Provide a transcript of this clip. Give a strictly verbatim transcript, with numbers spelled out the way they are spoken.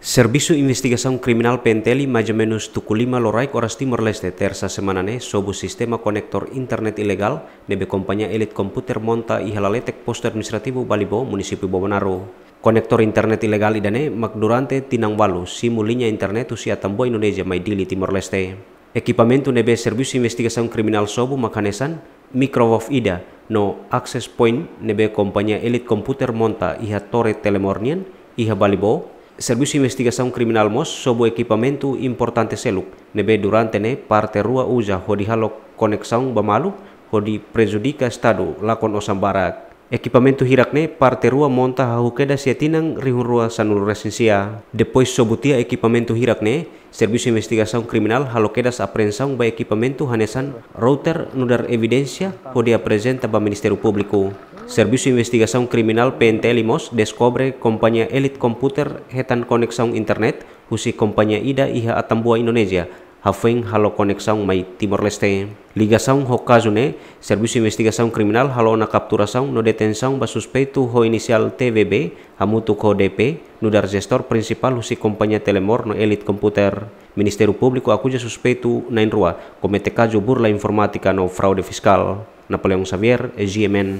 Servisu Investigasaun Kriminál P N T L maizumenus tuku lima loraik oras Timor-Leste, Tersa semana ne'e, sobu sistema konektór internet ilegál ne'ebé kompañia Elite Computer monta iha laletek Postu Administrativu Balibó, Munisípiu Bobonaro. Konektór internet ilegál ida-ne'e mak durante tinan ualu simu liña internet husi Atambua, Indonézia mai Dili, Timor-Leste. Ekipamentu ne'ebé Servisu Investigasaun Kriminál sobu mak hanesan microwave ida no access point ne'ebé kompañia Elite Computer monta iha Tore Telemor nian iha Balibó. Servisu Investigasaun Kriminál mós sobu ekipamentu importante seluk ne'ebé durante ne'e parte rua uza hodi halo koneksaun ba malu hodi prejudika Estadu lakon osan barak. Ekipamentu hirak-ne'e parte rua monta hahú kedas iha tinan rihun rua sanulu resin sia. Depois sobu tiha ekipamentu hirak-ne'e, Servisu Investigasaun Kriminál halo kedas apreensaun ba ekipamentu hanesan router nu'udar evidénsia hodi aprezenta ba Ministériu Públiku. Servisu Investigasaun Kriminál P N T L mós deskobre kompañia Elite Computer hetan koneksaun internet husi kompañia ida iha Atambua, Indonézia, hafoin halo koneksaun mai Timor-Leste. Ligasaun ho kazu ne'e, Servisu Investigasaun Kriminál halo ona kapturasaun no detensaun ba suspeitu ho inisiál T V B, hamutuk ho D P, nu'udar jestór prinsipál husi kompañia Telemor no Elite Computer. Ministériu Públiku akuza suspeitu na'in-rua komete kazu burla informátika no fraude fiskál. Napoleão Xavier, G M N.